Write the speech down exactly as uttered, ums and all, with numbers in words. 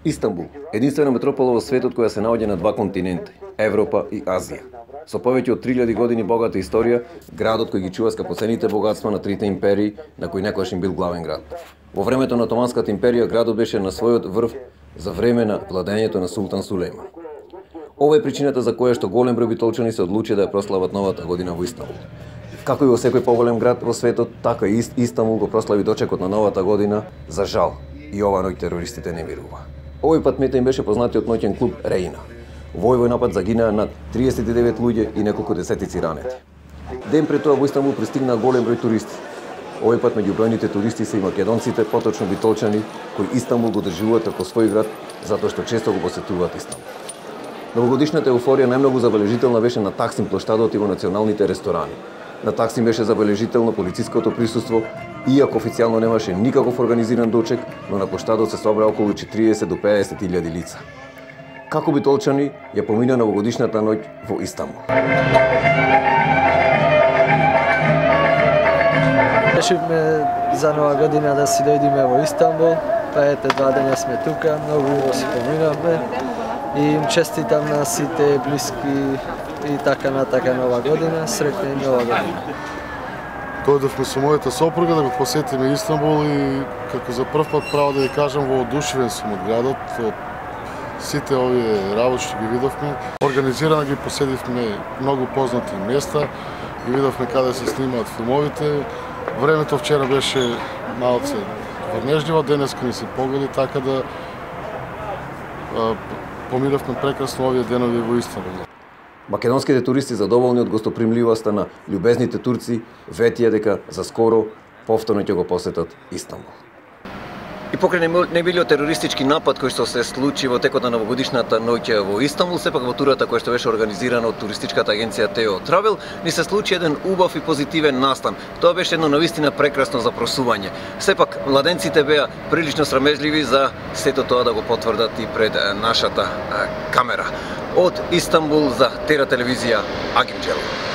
Истанбул, единствена метропола во светот која се наоѓа на два континенти, Европа и Азија. Со повеќе од три илјади години богата историја, градот кој ги чува скапоцените богатства на трите империи, на кои некојаш им бил главен град. Во времето на Отоманската империја градот беше на својот врв за време на владењето на султан Сулејман. Ова е причината за која што голем број битолчани се одлучи да ја прослават новата година во Истанбул. Како и во секој поголем град во светот, така и Истанбул го прослави дочекот на новата година, за жал. И ова ноќ терористите не мирува. Овој пат мета им беше познатиот ноќен клуб Рейна. Во овој напад загинаа над триесет и девет луѓе и неколку десетици ранети. Ден пред тоа во Истанбул пристигнаа голем број туристи. Овој пат меѓу бројните туристи се и македонците, поточно битолчани, кои Истанбул го држуваат како свој град затоа што често го посетуваат Истанбул. Новогодишната еуфорија најмногу забележителна беше на Таксим плоштадот и во националните ресторани. На Таксим беше забележително полициското присуство, иако официјално немаше никаков организиран дочек, но на плоштадот се собра околу четириесет до пеесет илјади лица. Како битолчани ја помина новогодишната ноќ во Истанбул. Решивме за нова година да си дојдеме во Истанбул, па ете два дења сме тука, многу убаво си поминавме и им честитам на сите блиски и така натака нова година, среќна и нова година. Дојдовме со мојата сопруга да го посетиме Истанбул и како за прв пат право да ја кажам воодушевен сум од градот, од сите овие работи што ги видовме. Организирано ги поседивме многу познати места, ги видовме каде се снимаат филмовите. Времето вчера беше малце врнежливо, денеска ни се погоди, така да а, поминавме прекрасно овие денови во Истанбул. Македонските туристи задоволни од гостопримливоста на љубезните турци ветија дека за скоро повторно ќе го посетат Истанбул. И покрај немилиот терористички напад кој што се случи во текот на новогодишната ноќ во Истанбул, сепак во турата која што беше организирана од туристичката агенција Тео Травел, ни се случи еден убав и позитивен настан. Тоа беше едно навистина прекрасно запросување. Сепак младенците беа прилично срамежливи за сето тоа да го потврдат и пред нашата камера. Од Истанбул за Тера телевизија, Агим Джелов.